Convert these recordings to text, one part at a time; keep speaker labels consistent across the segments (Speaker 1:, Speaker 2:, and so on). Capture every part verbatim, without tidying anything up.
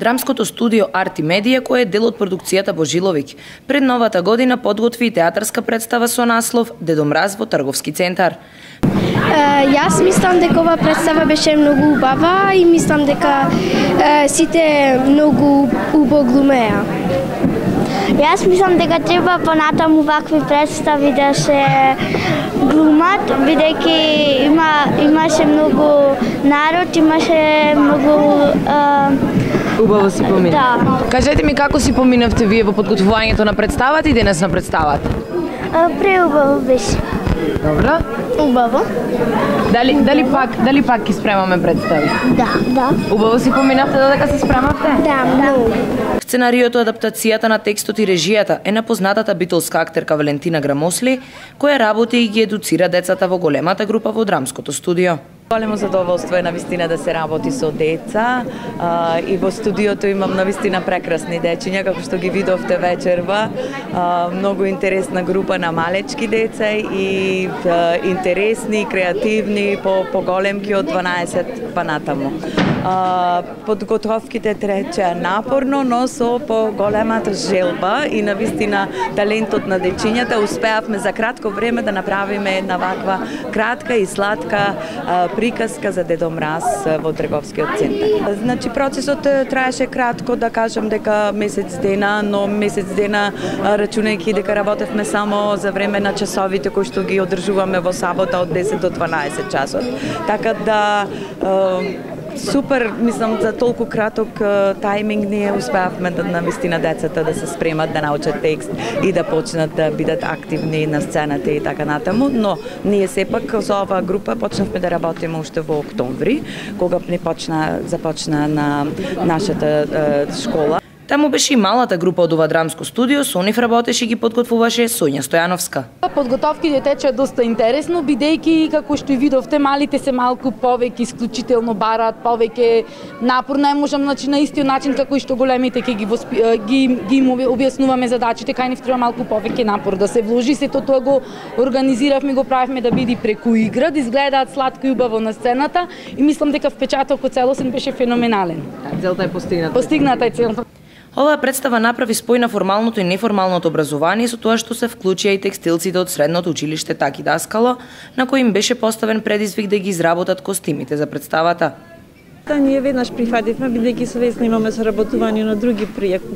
Speaker 1: драмското студио Арт и Медија, кое е дел од продукцијата Божиловиќ, пред новата година подготви театарска представа со наслов Дедо Мраз во Трговски центар.
Speaker 2: Uh, јас мислам дека ова представа беше многу убава и мислам дека uh, сите многу убаво глумеа.
Speaker 3: Јас мислам дека треба понатаму вакви представи да се глумат, бидејќи има имаше многу народ, имаше многу uh...
Speaker 1: убаво си помина.
Speaker 3: Да.
Speaker 1: Кажете ми како си поминавте вие во подготвувањето на представата и денес на представата?
Speaker 3: Uh, преубаво беше.
Speaker 1: Добро.
Speaker 3: Убаво.
Speaker 1: Дали дали пак дали пак ќе спремаме представи?
Speaker 3: Да, да.
Speaker 1: Убаво си поминавте додека се спремавте?
Speaker 3: Да, да.
Speaker 1: Сценариото, адаптацијата на текстот и режијата е на познатата битолска актерка Валентина Грамосли, која работи и ги едуцира децата во големата група во драмското студио.
Speaker 4: Големо задоволство е навистина да се работи со деца а, и во студиото имам навистина прекрасни дечиња, како што ги видовте вечерва. А, многу интересна група на малечки деца и а, интересни, креативни, по поголемки од дванаесет па натаму. А, подготовките тречеа напорно, но со поголемата желба и навистина талентот на дечињата успеавме за кратко време да направиме една ваква кратка и сладка а, приказка за Дедо Мраз во Трговскиот центар. Значи процесот траеше кратко, да кажам дека месец дена, но месец дена рачунајќи дека работевме само за време на часовите кои што ги одржуваме во сабота од десет до дванаесет часот. Така да супер, мислам, за толку краток тајминг ние успеавме да навистина децата да се спремат да научат текст и да почнат да бидат активни на сцената и така натаму, но ние сепак со оваа група почнавме да работиме уште во октомври, кога ни почна започна на нашата е, школа.
Speaker 1: Таму беше и малата група од ова драмско студио, со нив работеше и ги подготвуваше Сонја Стојановска.
Speaker 5: Подготовките тече доста интересно, бидејќи како што и видовте, малите се малку повеќе исклучително бараат, повеќе напор, не можам значи на истиот начин како и што големите ќе ги воспи... ги ги им објаснуваме задачите, кај нив треба малку повеќе напор да се вложи. Сето тоа го организиравме, го правевме да биде преку игра, да изгледаат сладко и убаво на сцената и мислам дека впечатокот целосен беше феноменален.
Speaker 1: Целта е постигната.
Speaker 5: Постигната е целта.
Speaker 1: Оваа представа направи спој на формалното и неформалното образование со тоа што се вклучија и текстилците од средното училиште Таки Даскало, на кој им беше поставен предизвик да ги изработат костимите за представата.
Speaker 6: Да, ние веднаш прифативме, бидејќи со Весна имаме соработување на други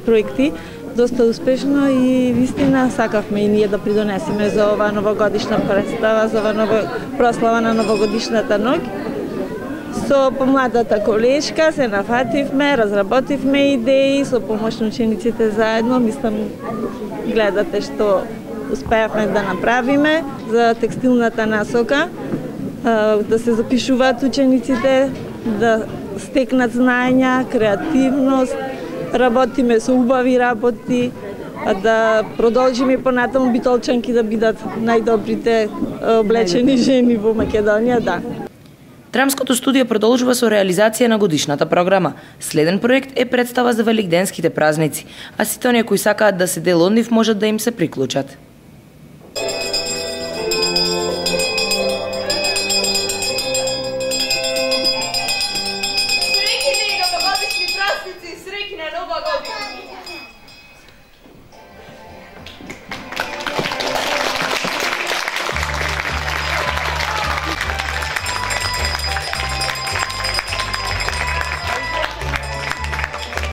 Speaker 6: проекти, доста успешно и вистина сакавме и ние да придонесеме за оваа новогодишна представа, за оваа нова прослава на новогодишната ноќ. Со помладата колешка се нафативме, разработивме идеи, со помош на учениците заедно, мислам, гледате што успеавме да направиме за текстилната насока, да се запишуваат учениците, да стекнат знаења, креативност, работиме со убави работи, да продолжиме понатаму битолчанки да бидат најдобрите облечени жени во Македонија, да.
Speaker 1: Драмското студио продолжува со реализација на годишната програма. Следен проект е представа за великденските празници, а сите оние кои сакаат да се дел од нив можат да им се приклучат.